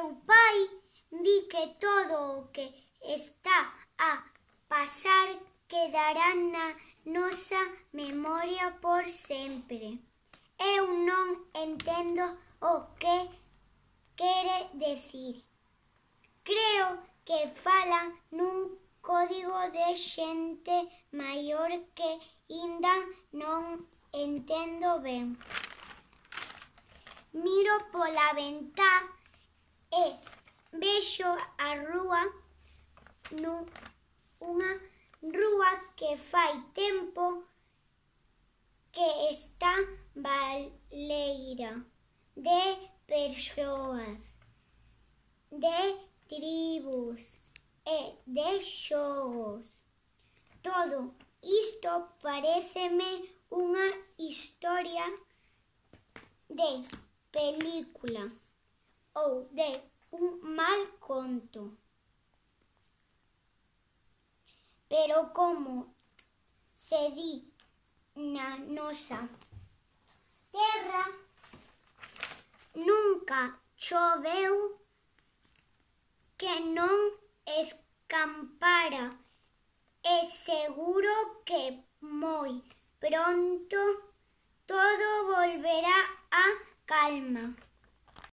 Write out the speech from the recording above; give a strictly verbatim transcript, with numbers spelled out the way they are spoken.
meu pai di que todo o que está a pasar quedará na nosa memoria por sempre. Eu non entendo o que quere decir. Creo que falan nun código de xente maior que inda non entendo ben. Miro pola ventá e vexo a rúa, unha rúa que fai tempo que está baleira de persoas, de tribus e de xogos. Todo isto paréceme unha historia de película ou de un mal conto. Pero como se di na nosa terra, nunca choveu que non escampara e seguro que moi pronto todo volverá á calma.